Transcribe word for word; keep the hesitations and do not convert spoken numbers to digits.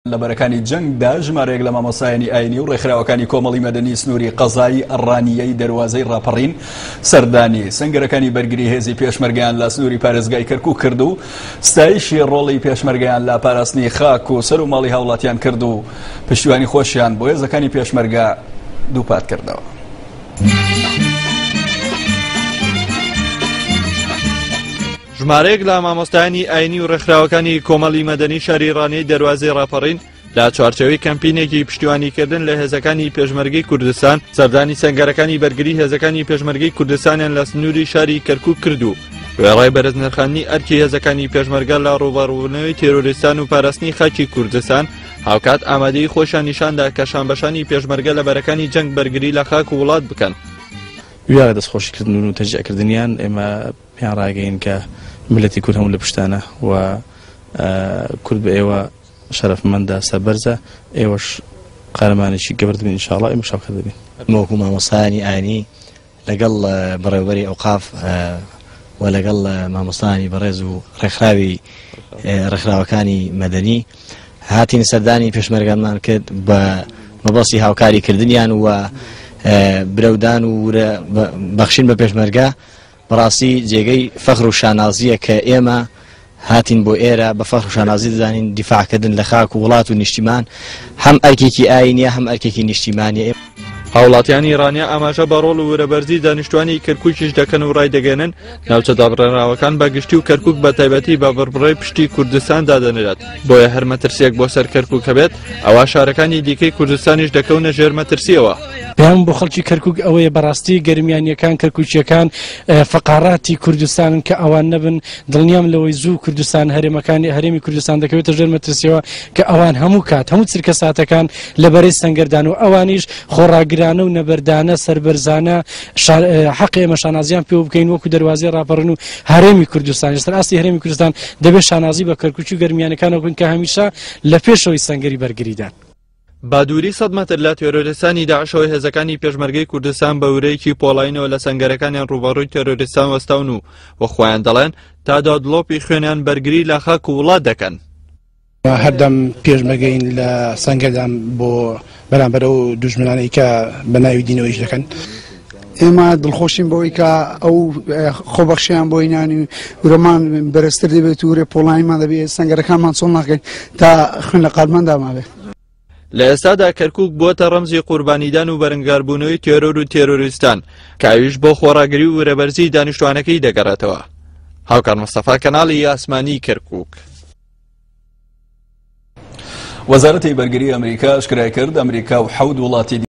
لە بەرەکانی جەنگدا ژمارەیەک لە مامۆستایانی ئاینی و ڕێکخراوەکانی کۆمەڵی مەدەنی سنووری قەزای ڕانیەی دەروازەی ڕاپەڕین سەردانی سەنگەرەکانی بەرگری هێزی پێشمەرگەیان لە سنووری پارێزگای کەرکوک کرد و ستایشی ڕۆڵی پێشمەرگەیان لە پاراستنی خاک و سەر و ماڵی هاوڵاتیان کرد و پشتیوانی خۆشیان بۆ هێزەکانی پێشمەرگە دووپات کردەوە. ژمارەیەک لە مامۆستایانی ئاینی و ڕێکخراوەکانی کۆمەڵی مەدەنی شاری ڕانیەی دەروازەی ڕاپەڕین لە چوارچێوەی کەمپینێکی پشتیوانیکردن لە هێزەکانی پێشمەرگەی کوردستان سەردانی سەنگەرەکانی بەرگری هێزەکانی پێشمەرگەی کوردستانیان لە سنووری شاری کەرکوک کرد و وێڕای بەرزنرخاندنی ئەرکی هێزەکانی پێشمەرگە لە ڕووبەڕووبوونەوەی تێرۆریستان و پاراستنی خاکی کوردستان، هاوکات ئامادەی خۆشیان نیشاندا کە شانبەشانی پێشمەرگە لە بەرەکانی جەنگ بەرگری لە خاک و وڵات بکەن. ویاڕە دەستخۆشیکردن و تەشجیعکردنیان ئێمە پێیان ڕاگەین کە میللەتی کورد هەموو لە پشتانە و کورد بە ئێوە شەرەفمەندە، سەربەرزە، ئێوەش قارەمانێکی گەورە دەبین ئینشاڵڵا، ئێمە شاوکەر دەبین. وەکو مامۆستایانی ئاینی لەگەڵ بەڕێوەبەری ئەوقاف و لەگەڵ مامۆستایانی بەڕێز و ڕێکخراوی ڕێکخراوەکانی مەدەنی هاتین سەردانی پێشمەرگانمان کرد بە مەبەستی هاوکاریکردنیان و برەودان و ورە بەخشین بە پێشمەرگە. بەڕاستی جێگەی فەخر و شانازیە کە ئێمە هاتین بۆ ئێرە بە فەخر و شانازی دەزانین دیفاعکردن لە خاک و وڵات و نیشتیمان هەم ئەرکێکی ئاینیە هەم ئەرکێکی نیشتیمانیە. هاوڵاتیانی ڕانیە ئاماژە بە ڕۆڵ و ورەبەرزی دانیشتوانی کەرکوکیش دەکەن و ڕایدەگەێنن ناوچە دابڕێنراوەکان بە گشتی و کەرکوک بە تایبەتی بە بڕبڕەی پشتی کوردستان دادەنرێت، بۆیە هەر مەترسیەک بۆ سەر کەرکوک هەبێت ئەوا شارەکانی دیکەی کوردستانیش دەکەونە ژێر مەترسیەوە. پەیام بۆ خەڵکی کەرکوک ئەوەیە بەڕاستی گەرمیانیەکان کەرکوکیەکان فەقاراتی کوردستانن کە ئەوان نەبن، دڵنیام لەوەی زوو کوردستان هەرێمەکانی هەرێمی کوردستان دەکەوێتە ژێر مەترسیەوە کە ئەوان هەموو کات هەموو چرکە ساتەکان لە بەرەی سەنگەردان و ئەوانیش خۆڕاگرانە و نەبەردانە سەربەرزانە حەق ئێمە شانازیان پێوە بکەین وەکو دەروازەی ڕاپەڕن و هەرێمی کوردستان. لەسەر ئاستی هەرێمی کوردستان دەبێت شانازی بە کەرکوکی و گەرمیانەکانەوە بکەین کە هەمیشە لە پێشەوەی سەنگەری بەرگریدان. با دووری سەد مەتر لە تێرۆریستانی داعشەوە هێزەکانی پێشمەرگەی کوردستان بە ورەیەکی پۆڵاینەوە لە سەنگەرەکانیان ڕووبەڕووی تێرۆریستان وەستاون و وە خۆیان دەڵێن تا دادڵۆپی خوێنیان بەرگری لە خاک و وڵات دەکەن. هەردەم پێشمەرگەین لە سەنگەردان بۆ بەرامبەر ئەو دوژمنانەی کە بە ناوی دینەوەیش دەکەن. ئێمە دڵخۆشین بەوەی کە ئەو خۆبەخشیان بۆ ئینانی ورەمان بەرزتر دەبێت و ورە پۆڵایمان دەبێت، سەنگەرەکانمان چۆڵ ناکەین تا خوێن لە قالماندا مابێت. لە ئێستادا کەرکوک بووەتە ڕەمزی قوربانیدان و بەرەنگاربوونەوەی تێرۆر و تێرۆریستان کە ئەویش بۆ خۆڕاگری و ورەبەرزی دانیشتوانەکەی دەگەڕێتەوە. هاوکار مستەفا، کەناڵی ئاسمانی کەرکوک. وەزارەتی بەرگری ئەمریکا ئاشکرای کرد ئەمریکا و حەوت وڵاتی